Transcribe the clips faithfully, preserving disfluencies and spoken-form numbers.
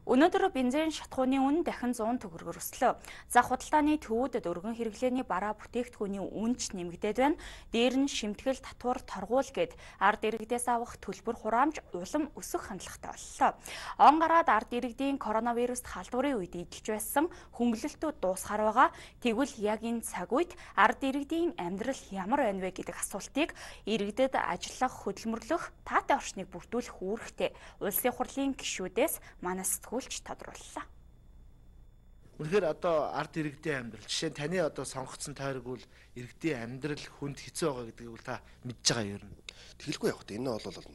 Өнөөдөр бензин шатхууны үн дахин зуун төгрөгөөр өслөө. За худалдааны төвүүдэд өргөн хэрэглээний бараа бүтээгдэхүүний үн ч нэмэгдээд байна. Дээр нь шимтгэл, татвар, торгуул гээд ард иргэдээс авах төлбөр хураамж улам өсөх хандлагатай боллоо. Он гараад ард иргэдийн коронавируст халдварын үед эдэлж байсан хөнгөлөлтүүд дуусгаар байгаа. Тэгвэл яг энэ цаг үед ард иргэдийн амьдрал ямар байна вэ гэдэг асуултыг иргэдэд ажиллах, хөдөлмөрлөх, таатай орчныг бүрдүүлэх үүрэгтэй улсын хурлын гишүүдээс манай сэтгүүлч тодрууллаа. Үнэхээр одоо ард иргэдийн амьдрал, жишээ нь таны одоо сонгогдсон тойрог бол иргэдийн амьдрал хүнд хэцүү байгаа гэдгийг бол та мэдж байгаа юм. Тэгэлгүй яг энэ бол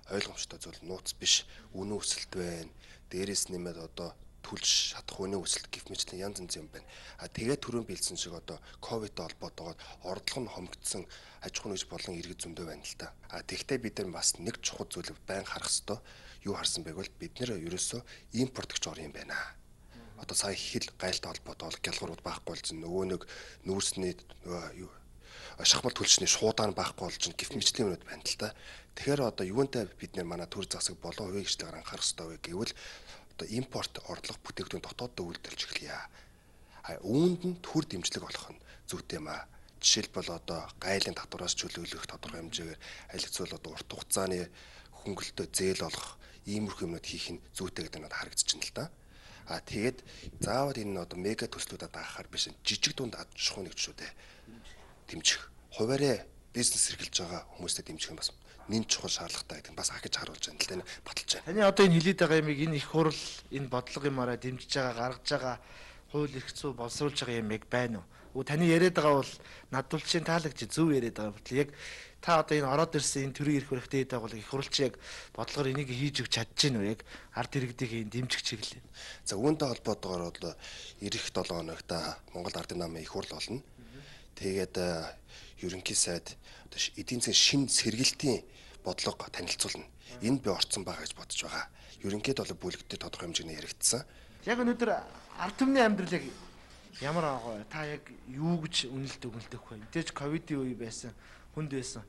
ойлгомжтой зүйл, нууц биш, үнэн өсөлт байна. Дээрээс нэмээд одоо түлш шатах үнийн өсөлт гэх мэтлэн янз янз юм байна. А тэгээд түрүүн бэлдсэн шиг одоо ковидтэй холбоотойгоор ордлого нь хомогдсон аж ахуйн нэгж болон иргэд зөндөө байна л та. А тэгвэл бид нар бас нэг чухал зүйлийг байн харах ёстой. Юу харсан байг бол бид нэр ерөөсөө импорт гэж ор юм байна. Одоо сая хил гайлтай холбоотой гялгуурууд байхгүй болсон. Нөгөө нэг нүүрсний юу шахмал түлшний шуудаан байхгүй болж гэх мэтлийн юмуд байна л та. Тэгэхээр одоо юунтай бид нэр манай төр засаг болон хувийн хөгжлөөр анхаарах ёстой вэ гэвэл одоо импорт ордлого бүтээгдэхүүн дотооддоо үйлдвэрлэж эхлэе. А үүнд нь төр дэмжлэг олох нь зүйтэй юм аа. Жишээлбэл одоо гайлын татвараас чөлөөлөх тодорхой хэмжээгээр аль хэцүү одоо урт хугацааны хөнгөлөлтөө зээл олох иймэрхүү юмнууд хийх нь зүйтэй гэдэг нь харагдчихна л да. А тэгээд заавал энэ одоо мега төслүүдэд даахаар биш жижиг дунд аж ахуйн нэгжүүдээ дэмжих. Хуваарь бизнес эрхэлж байгаа хүмүүстэй дэмжих нь бас нэн чухал шаардлагатай гэдэг нь бас ахиж харуулж байна л да. Энэ баталж байна. Таны одоо энэ хэлээд байгаа юмыг энэ их хурл энэ бодлого юмараа дэмжиж байгаа, гаргаж байгаа, хууль эрх зүй боловсруулж байгаа юм яг байна уу? Таны яриад байгаа бол надвалчийн таалагч зөв яриад байгаа бол яг та одоо энэ ороод ирсэн энэ төрийн эрх барихтай байгаа бол их хурлч яг бодлогоор энийг хийж өгч чадж гин үү яг ард иргэдийг дэмжих чиглэлээ. За үүнтэй холбоотойгоор бол эх долоо хоногт Монгол Ардын намын их хурл болно. Тэгээд ерөнхий сайд одоо эдийн засгийн шин сэргэлтийн бодлого танилцуулна. Энд би орцсон байгаа гэж бодож байгаа. Ерөнхийд бол бүлэгтээ тодорхой хэмжээний яригдсан. Яг өнөөдөр ард түмний амьдрал яг ямар байгаа вэ? Та яг юу гэж үнэлт өгнөлтөх вэ? Мэдээж ковидын үе байсан, хүнд байсан.